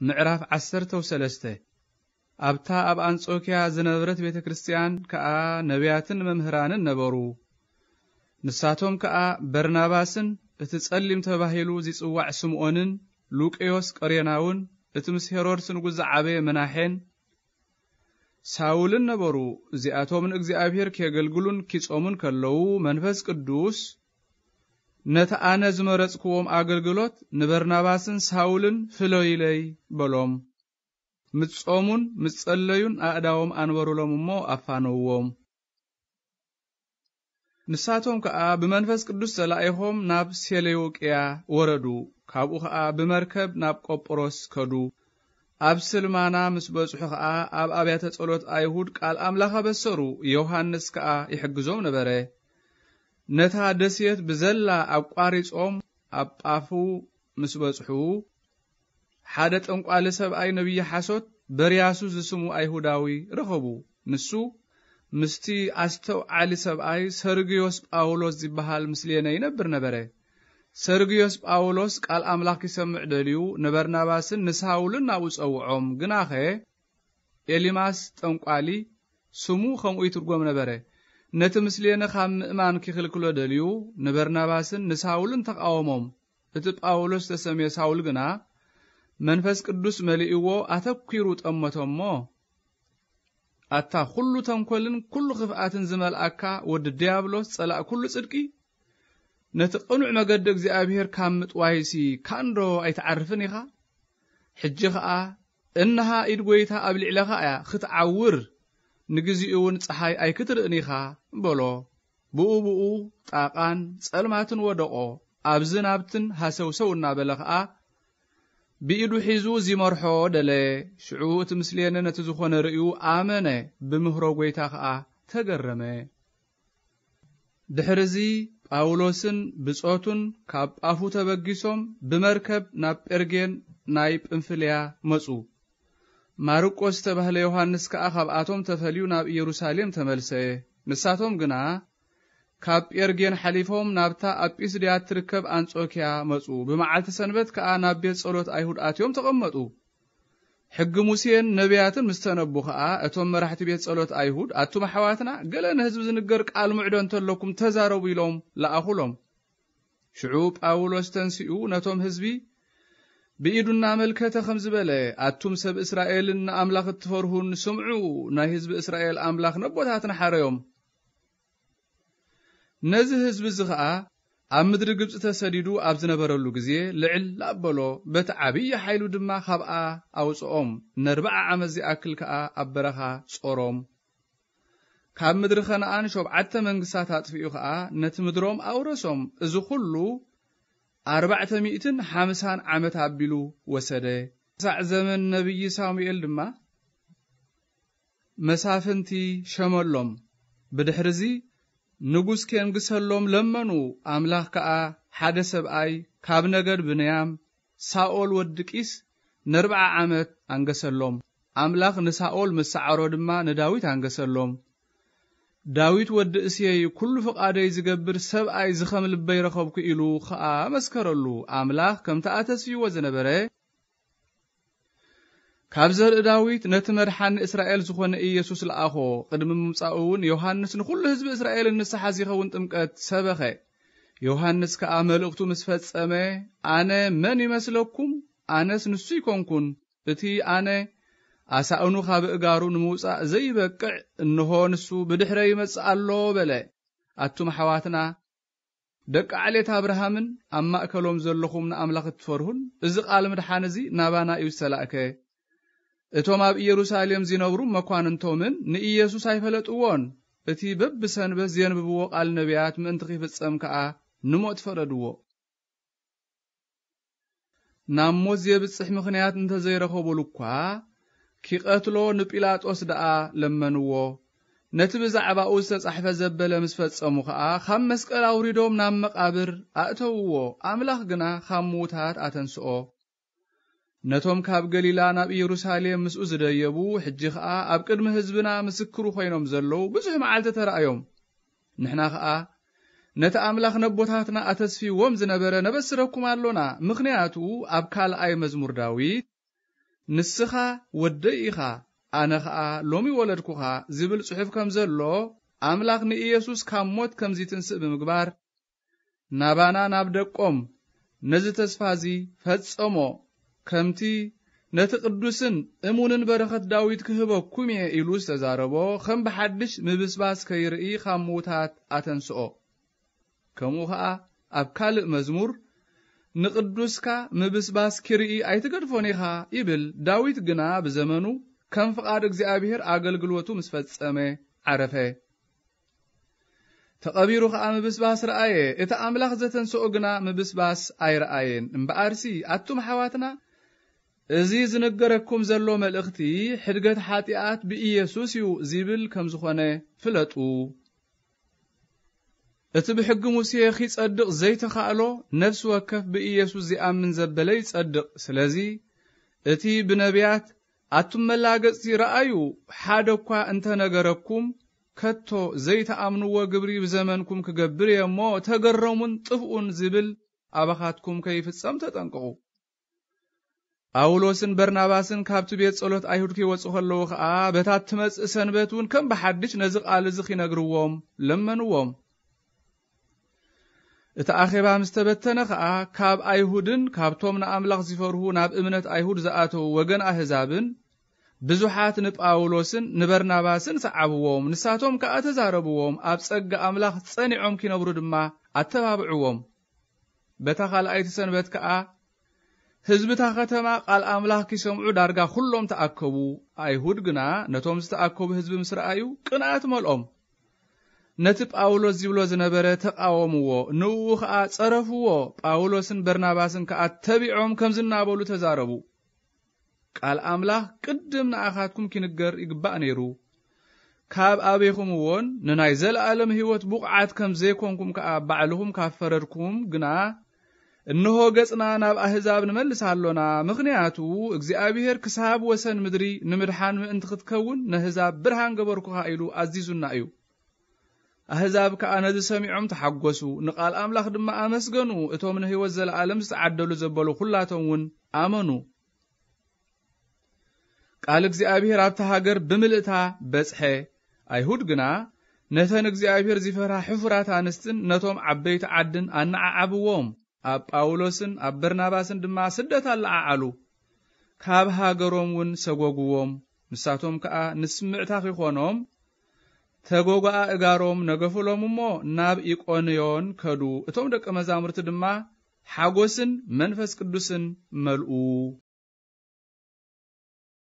ምዕራፍ ዓሰርተ ወሰለስተ። ኣብታ ኣብ ኣንጾኪያ ዝነበረት ቤተ ክርስቲያን ከኣ ነቢያትን መምህራንን ነበሩ። ንሳቶም ከኣ በርናባስን እቲ ጸሊም ተባሂሉ ዚጽዋዕ ስምዖንን ሉቅዮስ ቀሬናውን እቲ ምስ ሄሮድስ ንጉስ ዝዓበየ ምናሔን ሳውልን ነበሩ። እዚኣቶም ንእግዚኣብሔር ኬገልግሉን ኪጾሙን ከለዉ መንፈስ ቅዱስ ነቲ ኣነ ዝመረጽክዎም ኣገልግሎት ንበርናባስን ሳውልን ፍለዩለይ በሎም። ምስ ጾሙን ምስ ጸለዩን ኣእዳዎም ኣንበሩሎም እሞ ኣፋነውዎም። ንሳቶም ከኣ ብመንፈስ ቅዱስ ተላኢኾም ናብ ሴሌውቅያ ወረዱ። ካብኡ ኸኣ ብመርከብ ናብ ቆጵሮስ ከዱ። ኣብ ስልማና ምስ በጽሑ ኸኣ ኣብ ኣብያተ ጸሎት ኣይሁድ ቃል ኣምላኽ ኣበሰሩ። ዮሃንስ ከኣ ይሕግዞም ነበረ። ነታ ደሴት ብዘላ ኣቋሪጾም ኣብ ጳፉ ምስ በጽሑ፣ ሓደ ጠንቋሊ ሰብኣይ ነቢይ ሓሶት በርያሱ ዝስሙ ኣይሁዳዊ ረኸቡ። ንሱ ምስቲ ኣስተውዓሊ ሰብኣይ ሰርግዮስ ጳውሎስ ዝበሃል ምስሌነ ይነብር ነበረ። ሰርግዮስ ጳውሎስ ቃል ኣምላኽ ኪሰምዕ ደልዩ ንበርናባስን ንሳውልን ናብኡ ጸውዖም። ግናኸ ኤሊማስ ጠንቋሊ ስሙ ኸምኡ ይትርጎም ነበረ። ነቲ ምስሌነ ኻብ ምእማን ኪኽልክሎ ደልዩ ንበርናባስን ንሳውልን ተቓወሞም። እቲ ጳውሎስ ተሰምየ ሳውል ግና መንፈስ ቅዱስ መሊእዎ ኣተኲሩ ጠመቶ እሞ፣ ኣታ ኹሉ ተንኮልን ኩሉ ኽፍኣትን ዝመልኣካ ወዲ ድያብሎስ ጸላእ ኩሉ ጽድቂ፣ ነቲ ቅኑዕ መገዲ እግዚኣብሔር ካብ ምጥዋይሲ ካንዶ ኣይትዓርፍን ኢኻ? ሕጂ ኸኣ እንሃ ኢድ ጐይታ ኣብ ልዕለኻ እያ ኽትዓውር፣ ንግዚኡ እውን ጸሓይ ኣይክትርእን ኢኻ በሎ። ብኡ ብኡ ጣቓን ጸልማትን ወደቖ። ኣብዝን ኣብትን ሃሰውሰው እናበለ ኸኣ ብኢዱ ሒዙ ዚመርሖ ደለየ። ሽዑ እቲ ምስሌነ ነቲ ዝኾነ ርእዩ ኣመነ፣ ብምህሮ ጐይታ ኸኣ ተገረመ። ድሕርዚ ጳውሎስን ብጾቱን ካብ ጳፉ ተበጊሶም ብመርከብ ናብ ጴርጌን ናይ ጵንፍልያ መጹ። ማርቆስ ዝተባህለ ዮሃንስ ከኣ ካብኣቶም ተፈልዩ ናብ ኢየሩሳሌም ተመልሰ። ንሳቶም ግና ካብ ጴርጌን ሓሊፎም ናብታ ኣብ ጲስድያ እትርከብ ኣንጾኪያ መጹ። ብመዓልቲ ሰንበት ከኣ ናብ ቤት ጸሎት ኣይሁድ ኣትዮም ተቐመጡ። ሕጊ ሙሴን ነቢያትን ምስ ተነቡ ኸኣ፣ እቶም መራሕቲ ቤት ጸሎት ኣይሁድ፣ ኣቱም ኣሕዋትና፣ ገለ ንህዝቢ ዝንገር ቃል ምዕዶ እንተለኩም ተዛረቡ ኢሎም ለኣኹሎም። ሽዑ ጳውሎስ ተንሲኡ ነቶም ህዝቢ ብኢዱ እናመልከተ ኸም ዝበለ፣ ኣቱም ሰብ እስራኤልን ንኣምላኽ እትፈርሁን ስምዑ፣ ናይ ህዝቢ እስራኤል ኣምላኽ ነቦታትና ሓረዮም። ነዚ ህዝቢ እዚ ኸኣ ኣብ ምድሪ ግብጺ ተሰዲዱ ኣብ ዝነበረሉ ግዜ ልዕል ኣበሎ፣ በቲ ዓብዪ ሓይሉ ድማ ካብኣ ኣውጽኦም። ነርብዓ ዓመት ዚኣክል ከኣ ኣብ በረኻ ጾሮም። ካብ ምድሪ ኸነኣን ሸውዓተ መንግስታት ኣጥፊኡ ኸኣ ነቲ ምድሮም ኣውረሶም። እዚ ኹሉ ኣርባዕተ ሚእትን ሓምሳን ዓመት ኣቢሉ ወሰደ። ክሳዕ ዘመን ነቢይ ሳሙኤል ድማ መሳፍንቲ ሸመሎም። ብድሕርዚ ንጉስ ኬንግሰሎም ለመኑ። ኣምላኽ ከኣ ሓደ ሰብኣይ ካብ ነገድ ብንያም፣ ሳኦል ወዲ ቂስ፣ ነርብዓ ዓመት ኣንገሰሎም። ኣምላኽ ንሳኦል ምስ ሰዓሮ ድማ ንዳዊት ኣንገሰሎም። ዳዊት ወዲ እሴይ፣ ኩሉ ፍቓደይ ዝገብር ሰብኣይ፣ እዚ ኸም ልበይ ረኸብኩ ኢሉ ኸኣ መስከረሉ። ኣምላኽ ከምቲ ኣተስፍይዎ ዝነበረ፣ ካብ ዘርኢ ዳዊት ነቲ መድሓኒ እስራኤል ዝኾነ ኢየሱስ ለኣኾ። ቅድሚ ምምጻኡ እውን ዮሃንስ ንኹሉ ህዝቢ እስራኤል ንስሓ ዚኸውን ጥምቀት ሰበኸ። ዮሃንስ ከኣ መልእኽቱ ምስ ፈጸመ፣ ኣነ መን ይመስለኩም? ኣነስ ንሱ ኣይኮንኩን። እቲ ኣነ ኣሳእኑ ካብ እጋሩ ንምውጻእ ዘይበቅዕ፣ እንሆ ንሱ ብድሕረይ ይመጽእ ኣሎ በለ። ኣቱም ኣሕዋትና፣ ደቂ ዓሌት ኣብርሃምን ኣብ ማእከሎም ዘለኹም ንኣምላኽ እትፈርሁን፣ እዚ ቃል ምድሓን እዚ ናባና እዩ ዝተላእከ። እቶም ኣብ ኢየሩሳሌም ዚነብሩ መኳንንቶምን ንኢየሱስ ኣይፈለጥዎን። እቲ በብሰንበት ዜንብብዎ ቃል ነቢያት ምእንቲ ኺፍጸም ከኣ ንሞት ፈረድዎ። ናብ ሞት ዜብጽሕ ምኽንያት እንተ ዘይረኸቡሉ እኳ፣ ኪቐትሎ ንጲላጦስ ደኣ ለመንዎ። ነቲ ብዛዕባኡ ዝተጻሕፈ ዘበለ ምስ ፈጸሙ ኸኣ፣ ካብ መስቀል ኣውሪዶም ናብ መቓብር ኣእተውዎ። ኣምላኽ ግና ካብ ምዉታት ኣተንስኦ። ነቶም ካብ ገሊላ ናብ ኢየሩሳሌም ምስኡ ዝደየቡ፣ ሕጂ ኸኣ ኣብ ቅድሚ ህዝብና ምስክሩ ኾይኖም ዘለዉ ብዙሕ መዓልቲ ተራእዮም። ንሕና ኸኣ ነቲ ኣምላኽ ነቦታትና ኣተስፊዎም ዝነበረ ነበስረኩም ኣሎና። ምኽንያቱ ኣብ ካልኣይ መዝሙር ዳዊት፣ ንስኻ ወደይ ኢኻ፣ ኣነ ኸኣ ሎሚ ወለድኩኻ ዝብል ጽሑፍ ከም ዘሎ፣ ኣምላኽ ንኢየሱስ ካብ ሞት ከም ዝትንስእ ብምግባር፣ ናባና ናብ ደቆም ነዚ ተስፋ እዚ ፈጸሞ፣ ከምቲ ነቲ ቅዱስን እሙንን በረኸት ዳዊት ክህበኩም እየ ኢሉ ዝተዛረቦ፣ ከም ብሓድሽ ምብስባስ ከይርኢ ካብ ምዉታት ኣተንስኦ። ከምኡ ኸኣ ኣብ ካልእ መዝሙር፣ "ንቅዱስካ ምብስባስ ኪርኢ ኣይትገድፎን ኢኻ" ይብል። ዳዊት ግና ብዘመኑ ከም ፍቓድ እግዚኣብሔር ኣገልግሎቱ ምስ ፈጸመ ዓረፈ። ተቐቢሩ ኸኣ ምብስባስ ረኣየ፣ እቲ ኣምላኽ ዘተንስኦ ግና ምብስባስ ኣይረኣየን። እምበኣርሲ ኣቱም ኣሕዋትና፣ እዚ ዝንገረኩም ዘሎ መልእኽቲ ሕድገት ሓጢኣት ብኢየሱስ እዩ ዚብል ከም ዝኾነ ፍለጡ። እቲ ብሕጊ ሙሴ ኺጸድቕ ዘይተኻእሎ፣ ነፍሲ ወከፍ ብኢየሱስ ዚኣምን ዘበለ ይጸድቕ። ስለዚ እቲ ብነቢያት፣ "ኣቱም መላገጽቲ ረኣዩ፣ ሓደ እኳ እንተ ነገረኩም፣ ከቶ ዘይትኣምንዎ ግብሪ ብዘመንኩም ክገብር እየ እሞ፣ ተገረሙን ጥፍኡን" ዚብል ኣባኻትኩም ከይፍጸም ተጠንቀቑ። ጳውሎስን በርናባስን ካብቲ ቤት ጸሎት ኣይሁድ ከይወጹ ከለዉ ኸኣ፣ በታ እትመጽእ ሰንበት እውን ከም ብሓድሽ ነዚ ቃል እዚ ኺነግርዎም ለመንዎም። እቲ ኣኼባ ምስ ተበተነ ኸኣ፣ ካብ ኣይሁድን ካብቶም ንኣምላኽ ዚፈርሁ ናብ እምነት ኣይሁድ ዝኣተዉ ወገን ኣህዛብን ብዙሓት ንጳውሎስን ንበርናባስን ሰዓብዎም። ንሳቶም ከኣ ተዛረብዎም፣ ኣብ ጸጋ ኣምላኽ ጸኒዖም ኪነብሩ ድማ ኣተባብዕዎም። በታ ኻልኣይቲ ሰንበት ከኣ ህዝቢ እታ ኸተማ ቃል ኣምላኽ ኪሰምዑ ዳርጋ ኹሎም ተኣከቡ። ኣይሁድ ግና ነቶም ዝተኣከቡ ህዝቢ ምስ ረኣዩ ቅንኣት መልኦም። ነቲ ጳውሎስ ዚብሎ ዝነበረ ተቓወምዎ፣ ንእኡ ኸኣ ጸረፍዎ። ጳውሎስን በርናባስን ከኣ ተቢዖም ከምዚ እናበሉ ተዛረቡ። ቃል ኣምላኽ ቅድም ንኣኻትኩም ኪንገር ይግባእ ነይሩ። ካብ ኣቤኹምዎን ንናይ ዘለኣለም ህይወት ብቑዓት ከም ዘይኮንኩም ከኣ ባዕልኹም ካብ ፈረድኩም ግና፣ እንሆ ገጽና ናብ ኣህዛብ ንመልስ ኣሎና፣ ምኽንያቱ እግዚኣብሄር ክሳብ ወሰን ምድሪ ንምድሓን ምእንቲ ክትከውን ነህዛብ ብርሃን ገበርኩኻ ኢሉ ኣዚዙና እዩ። ኣህዛብ ከኣ ነዚ ሰሚዖም ተሓጎሱ፣ ንቓል ኣምላኽ ድማ ኣመስገኑ። እቶም ንህይወት ዘለኣለም ዝተዓደሉ ዘበሉ ኹላቶም እውን ኣመኑ። ቃል እግዚኣብሔር ኣብታ ሃገር ብምልእታ በጽሐ። ኣይሁድ ግና ነተን እግዚኣብሔር ዚፈርሃ ሕፉራት ኣንስትን ነቶም ዓበይቲ ዓድን ኣነዓዓብዎም። ኣብ ጳውሎስን ኣብ በርናባስን ድማ ስደት ኣለዓዓሉ። ካብ ሃገሮም እውን ሰጎግዎም። ንሳቶም ከኣ ንስምዕታ ኺኾኖም ተጎጓኣ እጋሮም ነገፉሎም እሞ ናብ ኢቆንዮን ከዱ። እቶም ደቀ መዛሙርቲ ድማ ሓጎስን መንፈስ ቅዱስን መልኡ።